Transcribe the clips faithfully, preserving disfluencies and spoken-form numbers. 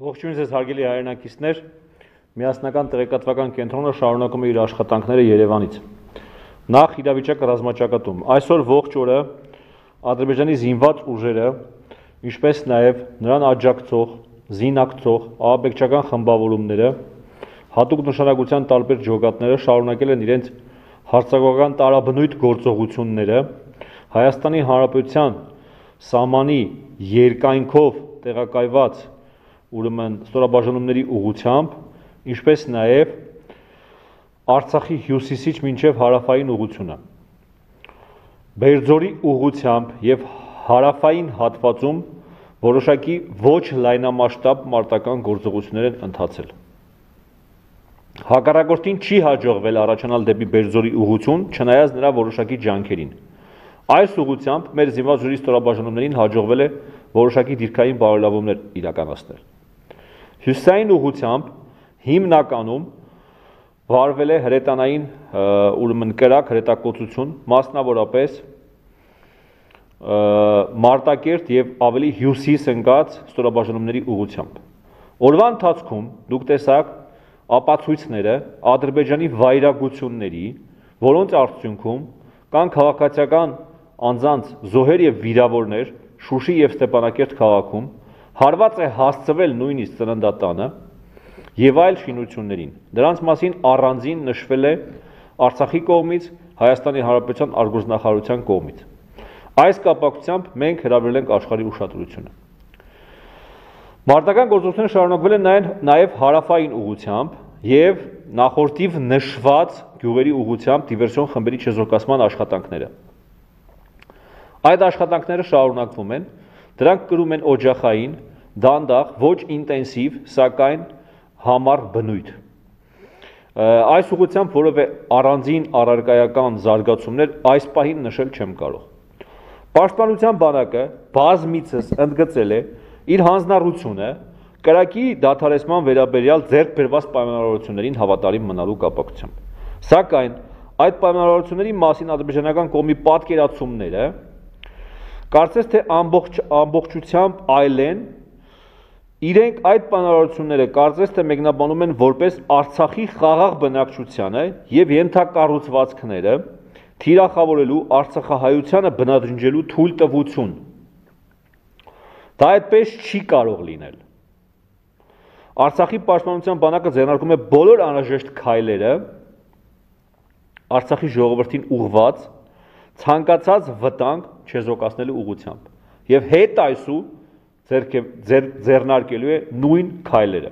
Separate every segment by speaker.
Speaker 1: Ողջույն ձեզ հարգելի հայրենակիցներ, միասնական տեղեկատվական կենտրոնը շարունակում է իր աշխատանքները Երևանից։ Նախ իրավիճակը ռազմաճակատում։ Այսօր ողջ օրը Ադրբեջանի զինված ուժերը, ինչպես նաև նրան աջակցող, զինակցող ահաբեկչական խմբավորումները, հատուկ նշանակության տարբեր ջոկատները շարունակել են իրենց հարձակողական տարաբնույթ գործողությունները Հայաստանի Հանրապետության սահմանի երկայնքով տեղակայված ուրեմն ստորաբաժանումների ուղղությամբ, ինչպես նաև Արցախի հյուսիսից մինչև հարավային ուղղությունը։ Բերձորի ուղղությամբ եւ հարավային հատվածում որոշակի ոչ լայնամասշտաբ մարտական գործողություններ են ընթացել։ Հակառակորդին չի հաջողվել առաջանալ դեպի Բերձորի ուղղություն, չնայած նրա որոշակի ջանքերին։ Այս ուղղությամբ մեր զինված ուժերի ստորաբաժանումներին հաջողվել է որոշակի դիրքային բարելավումներ իրականացնել։ Հյուսիսային ուղղությամբ հիմնականում վարվել է հրետանային ուրեմն կրակ հրետակոծություն, մասնավորապես Մարտակերտ եւ ավելի հյուսիս ընկած ստորաբաժանումների ուղղությամբ։ Օրվա ընթացքում դուք տեսաք ապացույցները Ադրբեջանի վայրագությունների, որոնց արդյունքում կան քաղաքացիական անձանց զոհեր եւ վիրավորներ Շուշի եւ Ստեփանակերտ քաղաքում, հարված է հասցվել նույնիսկ ծննդատանը եւ այլ շինություններին։ Դրանց մասին առանձին նշվել է Արցախի կողմից, Հայաստանի Հանրապետության արտգործնախարարության կողմից։ Այս կապակցությամբ մենք հրավիրել ենք աշխարհի ուշադրությունը։ Մարտական գործողությունները շարունակվել են նաեւ հարավային ուղղությամբ եւ նախորդիվ նշված գյուղերի ուղղությամբ դիվերսիոն խմբերի չեզոքացման աշխատանքները։ Այդ աշխատանքները շարունակվում են, դրանք կրում են օջախային, դանդաղ, ոչ ինտենսիվ, սակայն համառ բնույթ։ Այս ուղղությամբ որևէ առանձին առարկայական զարգացումներ այս պահին նշել չեմ կարող։ Պաշտպանության բանակը բազմիցս ընդգծել է իր հանձնառությունը կրակի դադարեցման վերաբերյալ ձեռք բերված պայմանավորություններին հավատարիմ մնալու կապակցությամբ։ Սակայն այդ պայմանավորությունների մասին ադրբեջանական կողմի պատկերացումները կարծես թե ամբողջ ամբողջությամբ այլ են, իրենք այդ պայմանավորությունները կարծես թե մեկնաբանում են որպես Արցախի խաղաղ բնակչությանը եւ ենթակառուցվածքները թիրախավորելու Արցախահայությանը բնադրինջելու թույլտվություն։ Դա այդպես չի կարող լինել։ Արցախի պաշտպանության բանակը ձեռնարկում է բոլոր անհրաժեշտ քայլերը Արցախի ժողովրդին ուղղված ցանկացած վտանգ չեզոքացնելու ուղղությամբ եւ հետ այսու ձեռնարկելու է նույն քայլերը։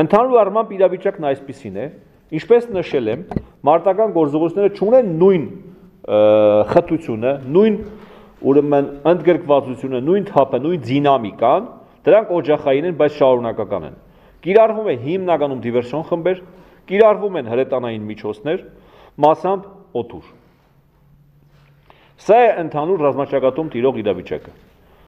Speaker 1: Ընդհանուր առմամբ իրավիճակն այսպիսին է, ինչպես նշել եմ, մարտական գործողությունները չունեն նույն խտությունը, նույն ուրեմն ընդգրկվածությունը, նույն թափը, նույն դինամիկան, դրանք օջախային են, բայց շարունակական են։ Կիրառվում է հիմնականում դիվերսիոն խմբեր, կիրառվում են հրետանային միջոցներ, մասամբ օդուր։ Սա է ընդհանուր ռազմաճակատում տիրող իրավիճակը։